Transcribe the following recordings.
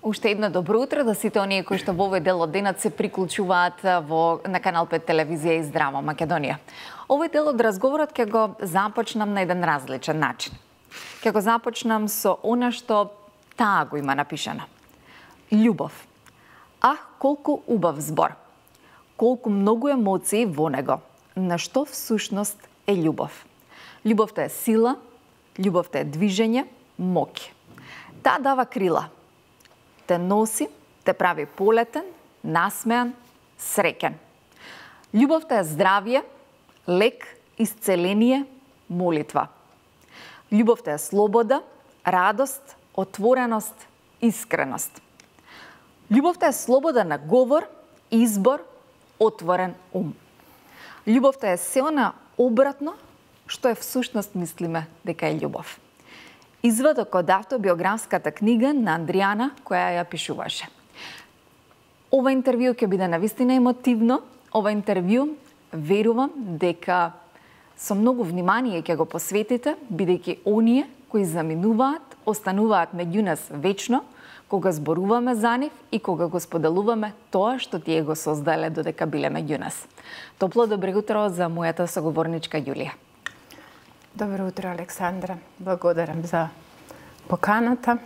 Уште едно добро утро да сите оние кои што во овој дел од денот се приклучуваат на Канал 5 телевизија и Здрава Македонија. Овој дел од разговорот ќе го започнам на еден различен начин. Ќе го започнам со она што таа го има напишано. Љубов. Колку убав збор. Колку многу емоции во него. На што всушност е љубов? Љубовта е сила, љубовта е движење, моќ. Таа дава крила. Те носи, те прави полетен, насмеан, среќен. Љубовта е здравје, лек, исцеление, молитва. Љубовта е слобода, радост, отвореност, искреност. Љубовта е слобода на говор, избор, отворен ум. Љубовта е се она обратно што е всушност мислиме дека е љубов. Извадок од автобиографската книга на Андријана, која ја пишуваше. Ова интервју ќе биде навистина емотивно. Ова интервју верувам дека со многу внимание ќе го посветите, бидејќи оние кои заминуваат, остануваат меѓу нас вечно, кога зборуваме за нив и кога го споделуваме тоа што тие го создале додека биле меѓу нас. Топло добро утро за мојата соговорничка Јулија. Добро утро, Александра. Благодарам за поканата.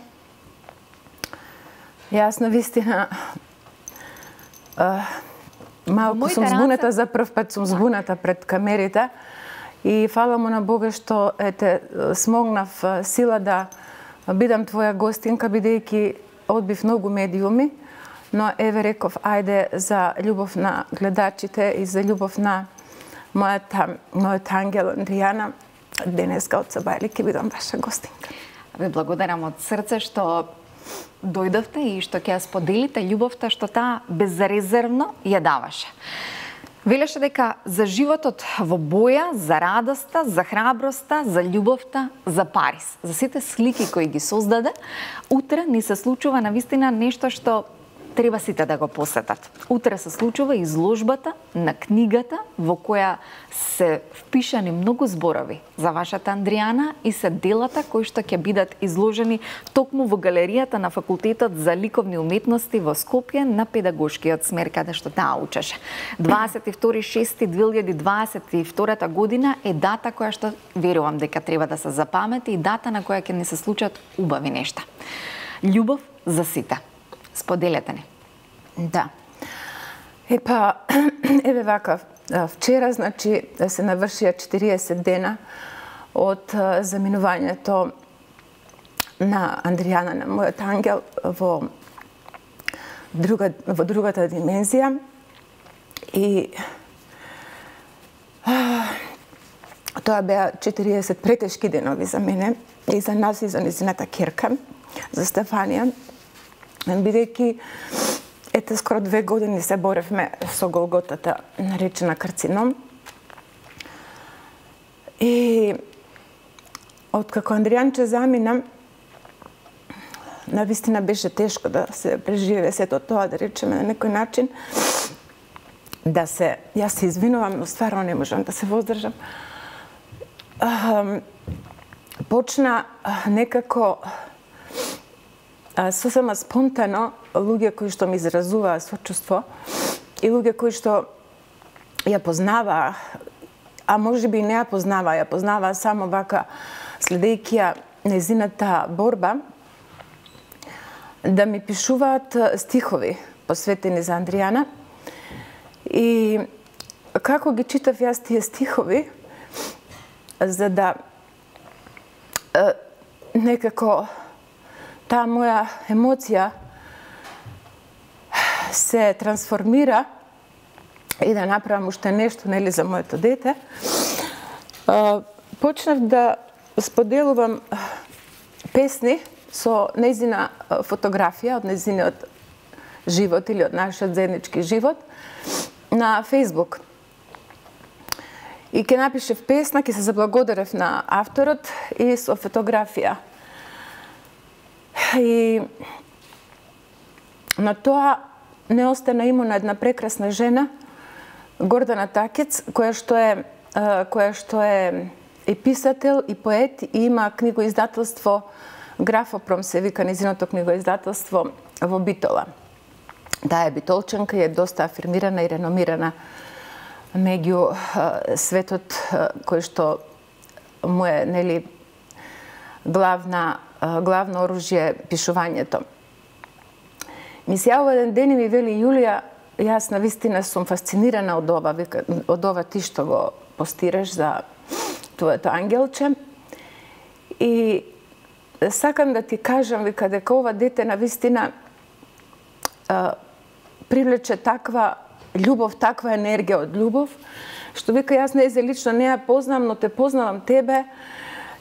Јас навистина малку сум збуната, за прв пат сум збуната пред камерите и фала му на Бога што смогнав сила да бидам твоја гостинка, бидејќи одбив многу медиуми, но еве реков ајде за љубов на гледачите и за љубов на мојот ангел Андријана. Денеска од Сабајли ќе бидам ваша гостинка. Ве благодарам од срце што дојдовте и што ќе ја споделите љубовта што таа безрезервно ја даваше. Велеше дека за животот во боја, за радоста, за храброста, за љубовта, за Париз, за сите слики кои ги создаде, утре ни се случува навистина нешто што треба сите да го посетат. Утре се случува изложбата на книгата во која се впишани многу зборови за вашата Андријана и се делата кои што ќе бидат изложени токму во галеријата на Факултетот за ликовни уметности во Скопје на педагошкиот смер каде што таа учеше. 22.6.2022 година е дата која што верувам дека треба да се запамети и дата на која ќе ни се случат убави нешта. Љубов за сите. Споделете ни. Да. Еве вака, вчера, значи, се навршија 40 дена од заминувањето на Андријана, на мојот ангел, во другата димензија. И тоа беа 40 претешки денови за мене и за нас и за незината ќерка, за Стефанија. Бидејќи скоро 2 години се боревме со голготата наречена карцином. И откако Андријанче замина, навистина беше тешко да се преживее сето тоа, да речеме на некој начин. Јас се извинувам, но стварно не можам да се воздржам. Почна некако сосема спонтано луѓе кои што ми изразуваа сочувство и луѓе кои што ја познаваа, а можеби и не ја познаваа само вака следејќи ја незината борба, да ми пишуваат стихови посветени за Андријана. И како ги читав јас тие стихови, за да некако таа моја емоција се трансформира и да направам уште нешто за моето дете, почнав да споделувам песни со нејзина фотографија од нејзиниот живот или од нашиот заеднички живот на Фејсбук. И ќе напишев песна, ќе се заблагодарев на авторот и со фотографија. И на тоа не остана имуна една прекрасна жена, Гордана Такец, која што е и писател, и поет, и има книгоиздателство Графопром се вика низиното книгоиздателство во Битола. Таа е битолчанка и е доста афирмирана и реномирана меѓу светот кој што му е, нели, главно оружје пишувањето. Ми се јавува еден ден и ми вели: Јулија, јас навистина сум фасцинирана од ова ти што го постираш за твоето ангелче и сакам да ти кажам, вика, дека ова дете навистина привлече таква љубов, таква енергија од љубов, што вика јас нејзе лично не ја познам, но те познавам тебе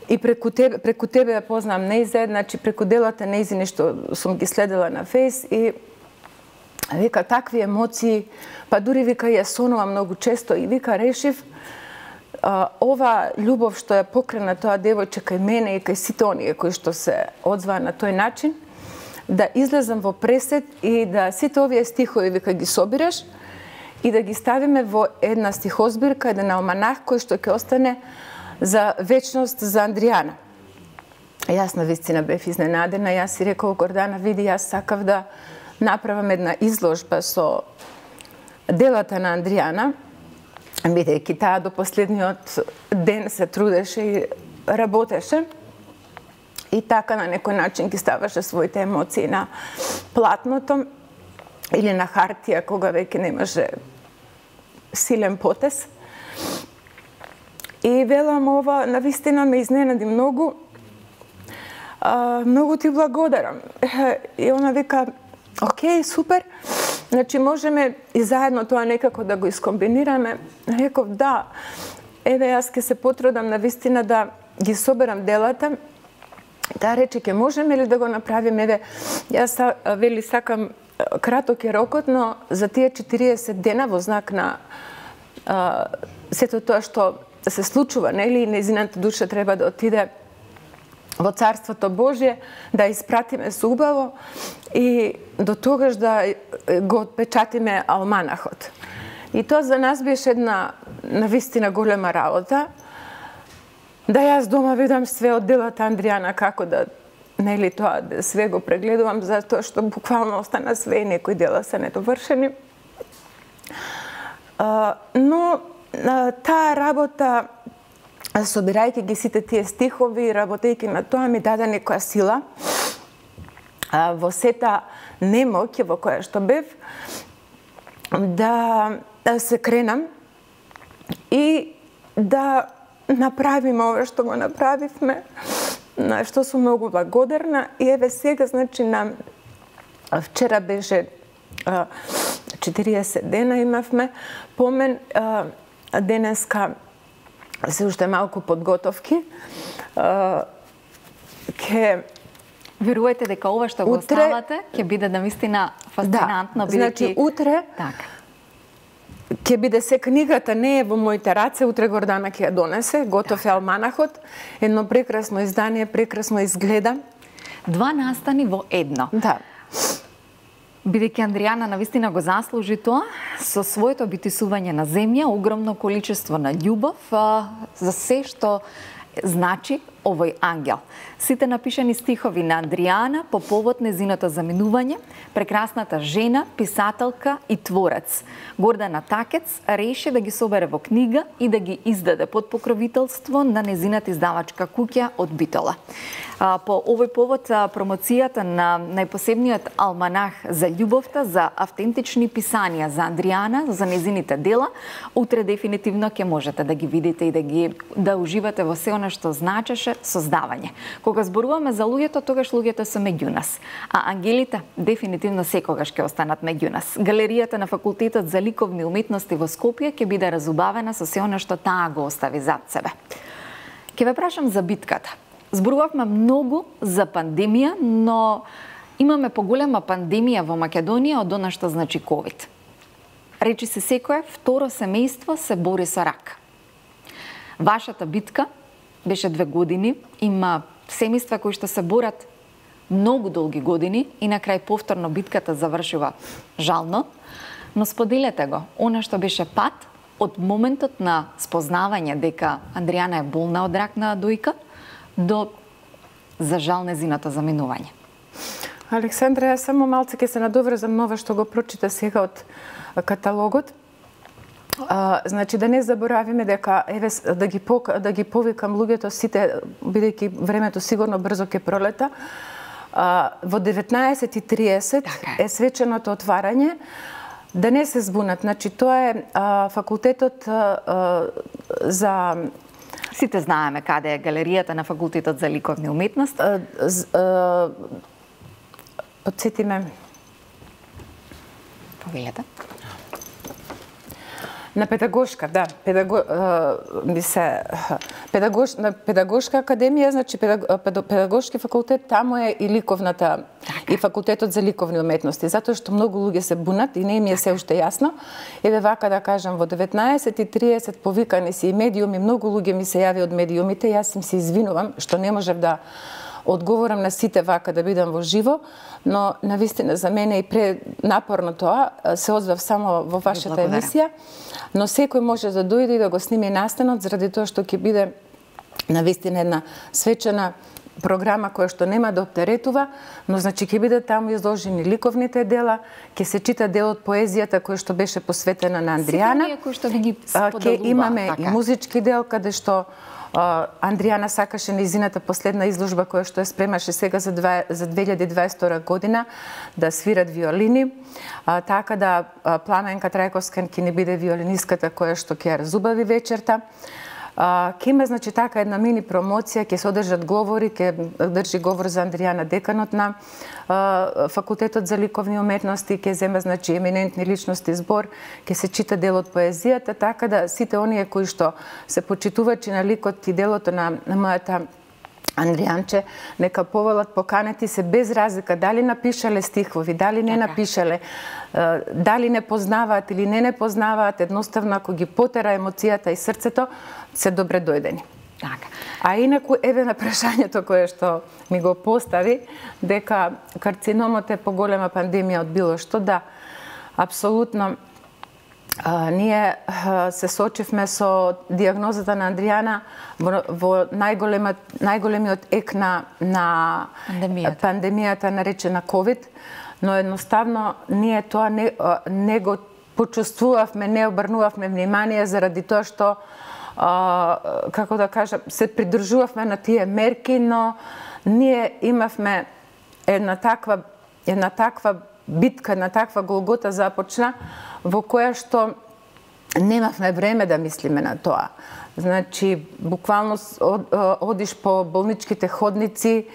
и преку тебе ја познам нејзе, значи преку делата нејзини што сум ги следела на фейс и вика такви емоции, па дури вика ја сонувам многу често и вика решив ова љубов што ја покрена тоа девојче кај мене и кај сите оние кои што се одзваа на тој начин, да излезам во пресет и да сите овие стихови вика ги собираш и да ги ставиме во една стихозбирка, еден алманах кој што ќе остане за вечност за Андријана. Јас навистина бев изненадена, јас си рекол: Гордана, види, јас сакав да направам една изложба со делата на Андријана, бидејќи таа до последниот ден се трудеше и работеше. И така на некој начин ги ставаше своите емоции на платното или на хартија, кога веќе немаше силен потез. И велам, ова навистина ме изненади многу. Многу ти благодарам. И она вика: окей, супер. Значи можеме и заедно тоа некако да го искомбинираме. Реков: да, еве јас ќе се потрудам навистина да ги соберам делата. Таа рече: ќе можеме ли да го направиме? Еве, јас вели сакам, краток е рокот, но за тие 40 дена во знак на сето тоа што се случува, нели, нејзината душа треба да отиде во Царството Божје, да испратиме со убаво и до тогаш да го отпечатиме алманахот. И тоа за нас беше една навистина голема работа. Да јас дома видам све од делата Андријана, како да, нели, тоа, да све го прегледувам, затоа што буквално остана све и некои дела се недовршени. Но таа работа, собирајќи ги сите тие стихови, работејќи на тоа, ми даде некоја сила во сета немоќ во која што бев, да се кренам и да направиме ова што го направивме, на што сум многу благодарна. И еве сега, значи, на вчера беше 40 дена имавме помен, денеска се уште малку подготовки. Верувате дека ова што го оставате ќе биде навистина фасцинантно, бидејќи значи утре ќе биде се книгата, не е во моите раце, утре Гордана ќе ја донесе, готов е алманахот, едно прекрасно издание, прекрасно изгледа. 2 настани во едно. Да. Бидејќи Андријана навистина го заслужи тоа, со своето битисување на земја, огромно количество на љубов за се што значи овој ангел. Сите напишани стихови на Андријана по повод незиното заминување, прекрасната жена, писателка и творец. Гордана Такец реши да ги собере во книга и да ги издаде под покровителство на незината издавачка куќа од Битола. По овој повод промоцијата на најпосебниот алманах за љубовта, за автентични писанија за Андријана, за незините дела, утре дефинитивно ќе можете да ги видите и да уживате во се она што значеше создавање. Кога зборуваме за луѓето, тогаш луѓето се меѓу нас, а ангелите дефинитивно секогаш ќе останат меѓу нас. Галеријата на Факултетот за ликовни уметности во Скопје ќе биде разубавена со се она што таа го остави зад себе. Ќе ве прашам за битката. Зборувавме многу за пандемија, но имаме поголема пандемија во Македонија од она што значи ковид. Речи се секое второ семејство се бори со рак. Вашата битка беше 2 години, има семејства кои што се борат многу долги години и на крај повторно битката завршува жално, но споделете го, она што беше пат од моментот на спознавање дека Андријана е болна од рак на дојка до за жал незиното заминување? Александра, јас само малце ќе се надоврзам на ова што го прочита сега од каталогот. Значи да не заборавиме дека еве да ги повикам луѓето сите, бидејќи времето сигурно брзо ќе пролета. Во 19:30 е свеченото отварање. Да не се збунат, значи тоа е факултетот за... Сите знаеме каде е галеријата на факултетот за ликовни уметности. Подсети ме. Повелете. На педагошка, да, на педагошка академија, значи педагошки факултет, таму е и ликовната и факултетот за ликовни уметности, затоа што многу луѓе се бунат и не ми е се уште јасно. Еве вака да кажам, во 19:30 повикани си и медиуми, многу луѓе ми се јави од медиумите, јас им се извинувам што не можев да одговорам на сите вака да бидам во живо, но навистина за мене и пренапорно тоа, се озвав само во вашата емисија, но секој може да дојде и да го сними настанот, заради тоа што ќе биде навистина една свечена програма која што нема да оптеретува, но значи ќе биде таму изложени ликовните дела, ќе се чита дел од поезијата која што беше посветена на Андријана. Ќе имаме и музички дел каде што Андријана сакаше нејзината последна изложба која што ја спремаше сега за 2022 година да свират виолини, така да Пламенка Трајковска ќе не биде виолиниската која што ќе ја разубави вечерта. Ќе има, значи, така една мини промоција, ќе се одржат говори, ќе држи говор за Андријана деканот на факултетот за ликовни уметности, ќе зема, значи, еминентни личности збор, ќе се чита дел од поезијата, така да сите оние кои што се почитувачи на ликот и делото на мојата Андријанче, нека поволат, поканети се без разлика дали напишале стихови, дали не напишале, дали не познаваат или не познаваат, едноставно ако ги потера емоцијата и срцето, се добре дојдени. Така. А инаку, еве на прашањето кое што ми го постави, дека карциномот е поголема пандемија од било што, да, апсолутно. Ние се сочивме со диагнозата на Андријана во најголемиот ек на пандемијата наречена COVID, но едноставно ние тоа не го почувствувавме, не обрнувавме внимание заради тоа што, како да кажам, се придржувавме на тие мерки, но ние имавме една таква битка, една таква голгота започна, во која што немавме време да мислиме на тоа. Значи, буквално одиш по болничките ходници,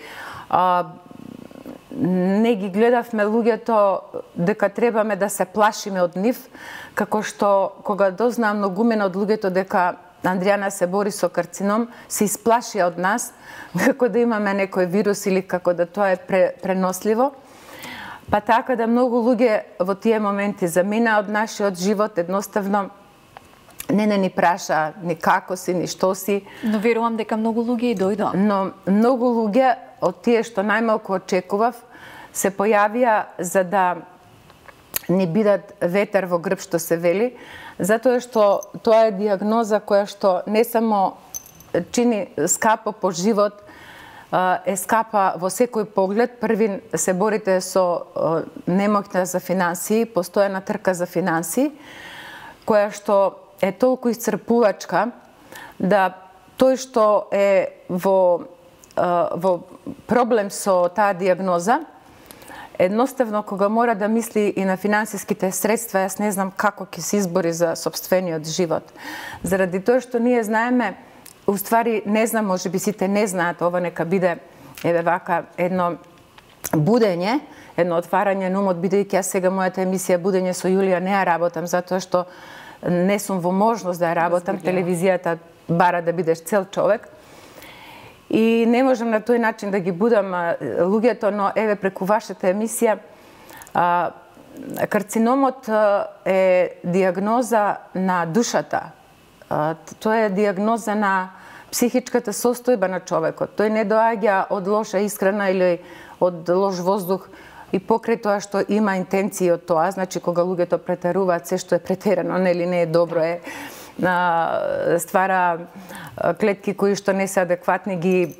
не ги гледавме луѓето дека требаме да се плашиме од нив, како што кога дознаа многумина од луѓето дека Андријана се бори со карцином, се исплашија од нас, како да имаме некој вирус или како да тоа е преносливо. Па така да многу луѓе во тие моменти замина од нашиот живот, едноставно не ни праша ни како си, ни што си. Но верувам дека многу луѓе и дојдоа. Но многу луѓе од тие што најмалку очекував се појавија за да не бидат ветер во грб, што се вели, затоа што тоа е диагноза која што не само чини скапо по живот, е скапа во секој поглед. Првин се борите со немоќта за финансии, постојана трка за финансии, која што е толку исцрпувачка да тој што е во проблем со таа диагноза, едноставно кога мора да мисли и на финансиските средства, јас не знам како ќе се избори за сопствениот живот. Заради тоа што ние знаеме, уствари не знам, може би сите не знаат, ова нека биде еве вака едно будење, едно отварање на умот, бидејќи јас сега мојата емисија Будење со Јулија не ја работам, затоа што не сум во можност да ја работам, телевизијата бара да бидеш цел човек. И не можам на тој начин да ги будам луѓето, но еве преку вашата емисија, карциномот е диагноза на душата. Тоа е диагноза на психичката состојба на човекот. Тој не доаѓа од лоша исхрана или од лош воздух и покрај тоа што има интенции од тоа, значи кога луѓето претеруваат, се што е претерано, нели не е добро, ствара клетки кои што не се адекватни, ги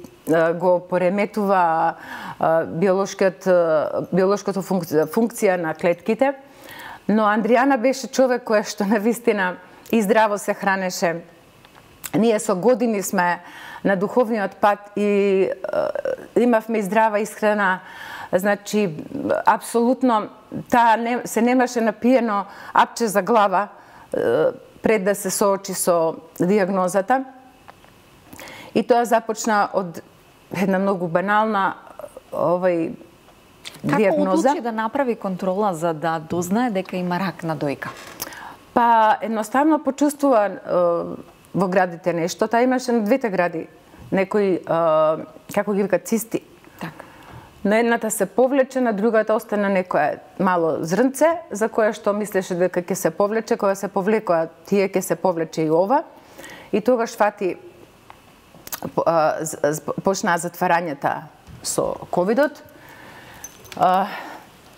го пореметува биолошката функција на клетките. Но Андријана беше човек кој што навистина и здраво се хранеше. Ние со години сме на духовниот пат и имавме и здрава исхрана. Значи, апсолутно, таа се немаше напиено апче за глава пред да се соочи со диагнозата. И тоа започна од една многу банална диагноза. Како одлучи да направи контрола за да дознае дека има рак на дојка? Па, едноставно почувствува во градите нешто. Таа имаше на двете гради некои, како ги вика, цисти. Така. На едната се повлече, на другата остана некое мало зрнце, за кое што мислеше дека ќе се повлече, кога се повлекоа тие ќе се повлече и ова. И тогаш фати почнаа затварањата со ковидот.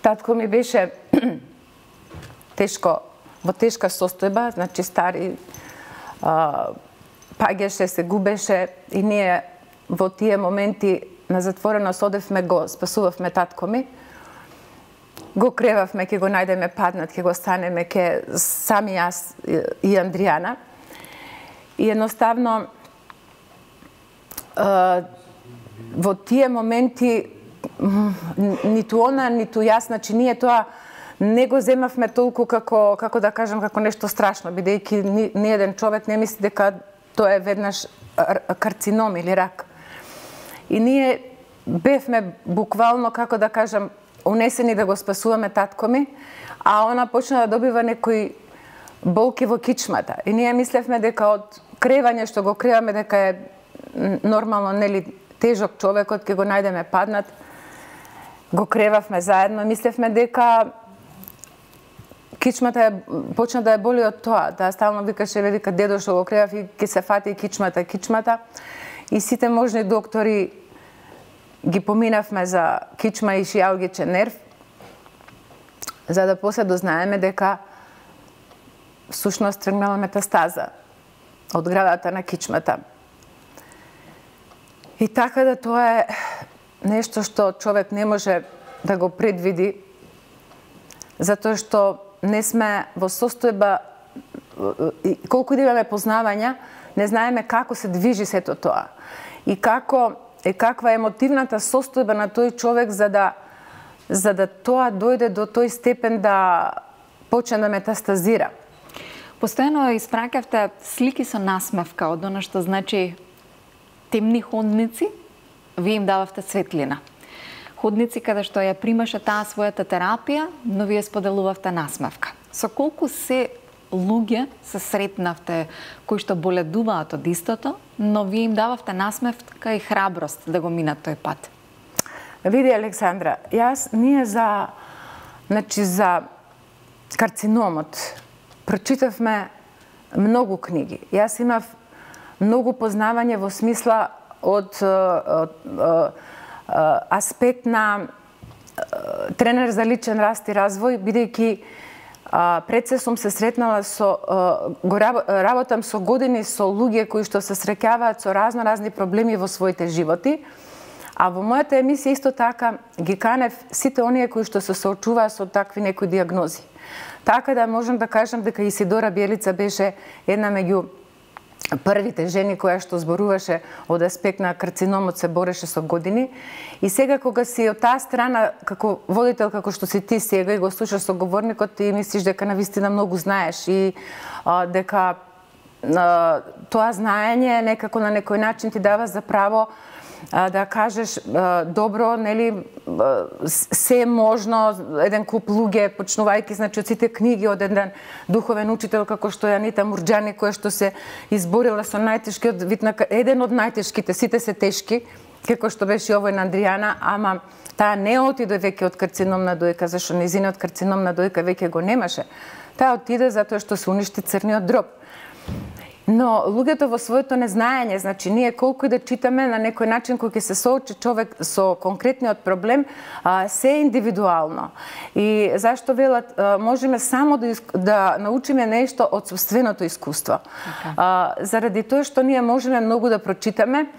Татко ми беше во тешка состојба, значи стари, паѓаше, се губеше и ние во тие моменти на затвореност одевме, го спасувавме татко ми. Го кревавме, ќе го најдеме паднат, ќе го станеме, ќе сами јас и Андријана. И едноставно во тие моменти ниту она, ниту јас, значи ние тоа не го земавме толку како да кажам, како нешто страшно, бидејќи ни еден човек не мисли дека тоа е веднаш карцином или рак. И ние бевме буквално, како да кажам, унесени да го спасуваме татко ми, а она почна да добива некои болки во кичмата. И ние мислевме дека од кревање што го креваме дека е нормално, нели, тежок човекот, ќе го најдеме паднат. Го кревавме заедно, мислевме дека кичмата почна да ја боли од тоа, да стално викаше, вика дедо што го кревав и ќе се фати кичмата. И сите можни доктори ги поминавме за кичма и шијалгичен нерв, за да после дознаеме дека всушност тргнала метастаза од градата на кичмата. И така да тоа е нешто што човек не може да го предвиди, затоа што не сме во состојба, колку да имаме познавања, не знаеме како се движи сето тоа. И каква е емотивната состојба на тој човек за да тоа дојде до тој степен да почне да метастазира. Постојано испраќавте слики со насмевка од она што значи темни ходници, вие им дававте светлина. Ходници каде што ја примаше таа својата терапија, но вие споделувавте насмевка. Со колку се луѓе се сретнавте кои што боледуваат од истото, но вие им дававте насмевка и храброст да го минат тој пат? Види, Александра, ние за карциномот прочитавме многу книги. Јас имав многу познавање во смисла од аспект на тренер за личен раст и развој, бидејќи пред се сум се сретнала работам со години со луѓе кои што се среќаваат со разни проблеми во своите животи, а во мојата емисија исто така ги канев сите оние кои што се соочуваат со такви некои диагнози. Така да можам да кажам дека Исидора Бјелица беше една меѓу првите жени која што зборуваше од аспект на карциномот, се бореше со години. И сега кога си од таа страна, како водител, како што си ти сега и го слушаш соговорникот, ти мислиш дека навистина многу знаеш и дека тоа знаење некако на некој начин ти дава за право да кажеш добро, нели, се можно, еден куп луѓе, почнувајќи, значи, од сите книги од еден духовен учител како што е Анита Мурџани, која што се изборила со најтешкиот вид на еден од најтешките, сите се тешки, како што беше овој на Андријана, ама таа не отиде веќе од карцином на дојка, зашто незиниот карцином на дојка веќе го немаше. Таа отиде затоа што се уништи црниот дроб. Но луѓето во своето незнаење, значи ние колку и да читаме на некој начин кој ќе се соочи човек со конкретниот проблем, се е индивидуално. И зашто велат, можеме само да научиме нешто од собственото искуство. Заради тоа што ние можеме многу да прочитаме,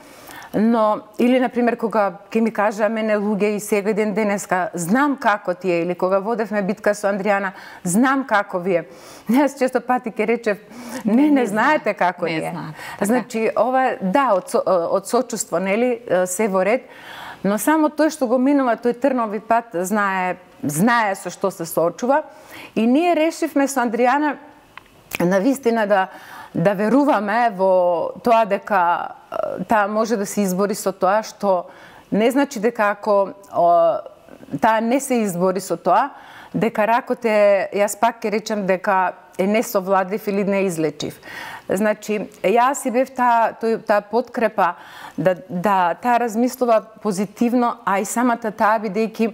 Но, или, например, кога ќе ми кажа мене луѓе и сега ден денеска, знам како ти е, или кога водевме битка со Андријана, знам како ви е. Јас често пати ќе речев, не знаете како ни е. Значи, ова, да, од сочувство, нели, се во ред, но само тој што го минува тој трнови пат, знае со што се соочува. И ние решивме со Андријана навистина да веруваме во тоа дека таа може да се избори со тоа, што не значи дека ако таа не се избори со тоа, дека ракот е, јас пак ќе речем дека е несовладлив или неизлечив. Значи, јас и бев таа подкрепа да таа размислува позитивно, а и самата таа бидејќи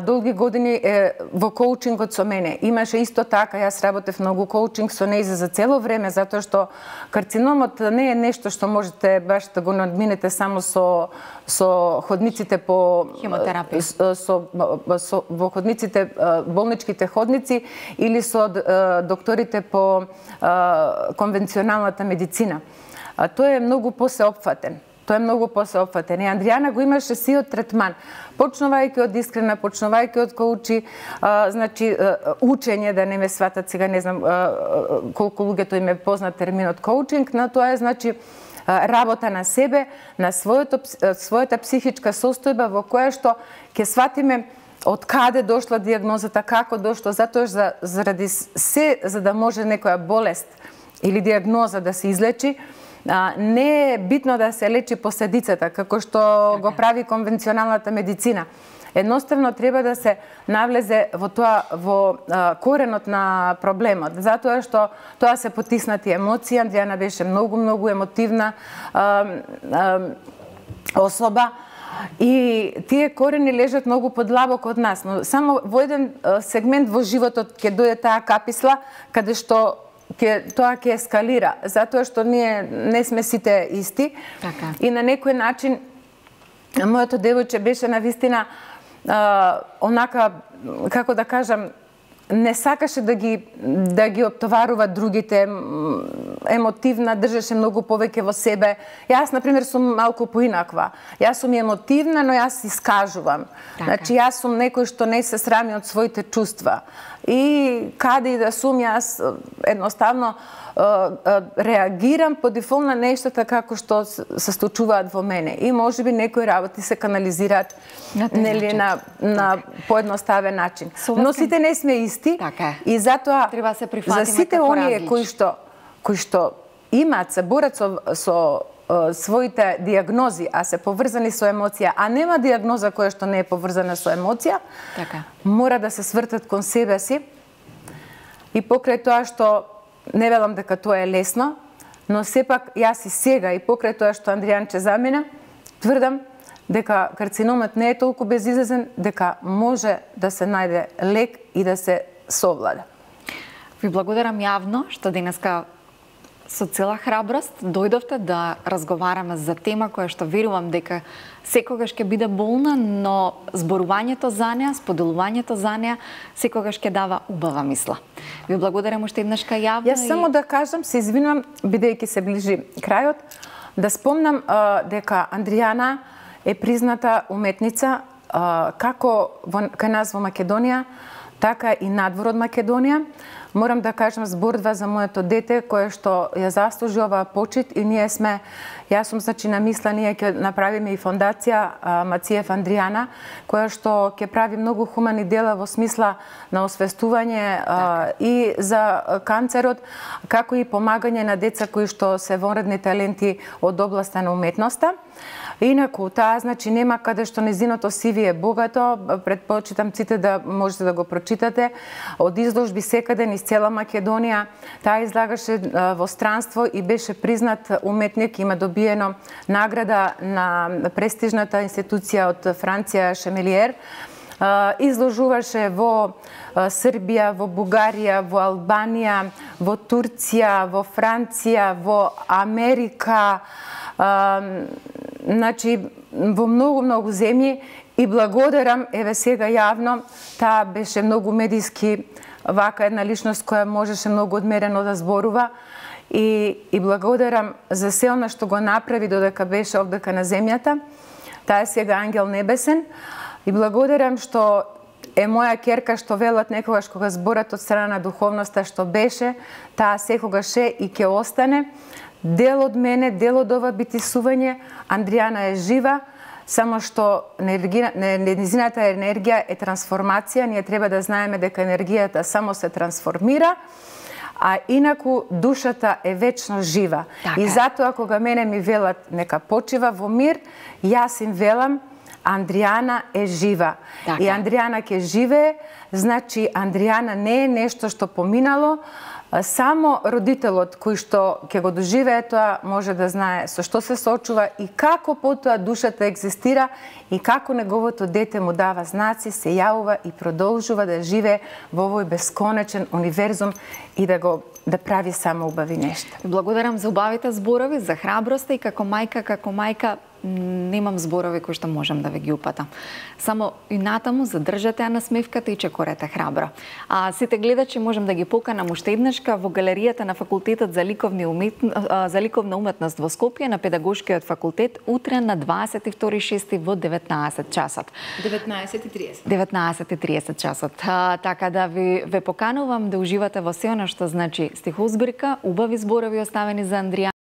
долги години во коучингот со мене. Имаше исто така, јас работев многу коучинг со нејзе за цело време, затоа што карциномот не е нешто што можете баш да го надминете само со ходниците по хемотерапија, во ходниците, болничките ходници или со докторите по конвенционалната медицина. Тој е многу посеопфатен. Тој е многу посеопфатен. И Андријана го имаше сиот третман. Почнувајќи од искрена, почнувајќи од коучи, значи, учење, да не ме сватат сега, не знам колку луѓето им е познат терминот коучинг, но тоа е, значи, работа на себе, на својата психичка состојба во која што ќе сватиме од каде дошла дијагнозата, како дошло, затоа заради се, за да може некоја болест или дијагноза да се излечи, не е битно да се лечи последицата, како што го прави конвенционалната медицина. Едноставно треба да се навлезе во тоа, во коренот на проблемот, затоа што тоа се потиснати емоции. Андријана беше многу емотивна особа и тие корени лежат многу подлабоко од нас, но само во еден сегмент во животот ќе дојде таа каписла каде што тоа ќе ескалира, затоа што ние не сме сите исти. Така. И на некој начин моето девојче беше навистина онака, како да кажам, не сакаше да ги оптоварува другите, емотивна, држеше многу повеќе во себе. Јас, например, сум малку поинаква. Јас сум емотивна, но јас искажувам. Така. Значи, јас сум некој што не се срами од своите чувства. И каде и да сум, јас едноставно реагирам по дефолт на нештата како што се случуваат во мене. И можеби некои работи се канализираат нели на поедноставен начин. Но сите не сме исти. Така. И затоа за сите оние кои што имаат, се борат со своите дијагнози, а се поврзани со емоција, а нема дијагноза која што не е поврзана со емоција, така, мора да се свртат кон себе си. И покрај тоа што не велам дека тоа е лесно, но сепак јас и сега и покрај тоа што Андријанче замина, тврдам дека карциномот не е толку безизлезен, дека може да се најде лек и да се совлада. Ви благодарам јавно што денеска со цела храброст дојдовте да разговараме за тема која што верувам дека секогаш ќе биде болна, но зборувањето за неа, споделувањето за неа секогаш ќе дава убава мисла. Ви благодарам уште еднашка јавно. Јас само да кажам, се извинувам, бидејќи се ближи крајот, да спомнам дека Андријана е призната уметница како кај нас во Македонија, така и надвор од Македонија. Морам да кажам збордва за моето дете кое што ја заслужи оваа почит и ние сме, јас сум значи намисла, ние ќе направиме и фондација Мациев Андријана, која што ќе прави многу хумани дела во смисла на освестување и за канцерот, како и помагање на деца кои што се вонредни таленти од областа на уметноста. Инаку, таа, значи, нема каде што незиното CV е богато, предпочитам сите да можете да го прочитате. Од изложби секаде низ цела Македонија, таа излагаше во странство и беше признат уметник, има добиено награда на престижната институција од Франција Шемелиер. Изложуваше во Србија, во Бугарија, во Албанија, во Турција, во Франција, во Америка, значи во многу земји и благодарам, еве сега јавно, таа беше многу медиски вака една личност која можеше многу одмерено да зборува и благодарам за се она што го направи додека беше овдека на земјата. Таа е сега ангел небесен и благодарам што е моја ќерка што велат некогаш кога зборат од страна на духовноста што беше, таа секогаш е и ќе остане. Дел од мене, дел од ова битисување, Андријана е жива, само што незината енергија е трансформација, ние треба да знаеме дека енергијата само се трансформира, а инаку душата е вечно жива. Така. И затоа кога мене ми велат нека почива во мир, јас им велам Андријана е жива. Така. И Андријана ќе живее, значи Андријана не е нешто што поминало, само родителот кој што ќе го доживее тоа може да знае со што се соочува и како потоа душата екзистира и како неговото дете му дава знаци, се јавува и продолжува да живее во овој бесконечен универзум и да прави само убави нешта. Благодарам за убавите зборови, за храброста и како мајка немам зборови кои што можам да ве ги упатам. Само и натаму задржате ја насмевката и чекорете храбро. А сите гледачи можам да ги поканам уште еднашка во галеријата на факултетот за ликовна уметност во Скопје на педагошкиот факултет утре на 22.6 во 19 часот. 19:30. 19:30 часот. Така да ве поканувам да уживате во се она што значи стихозбирка, убави зборови оставени за Андријана.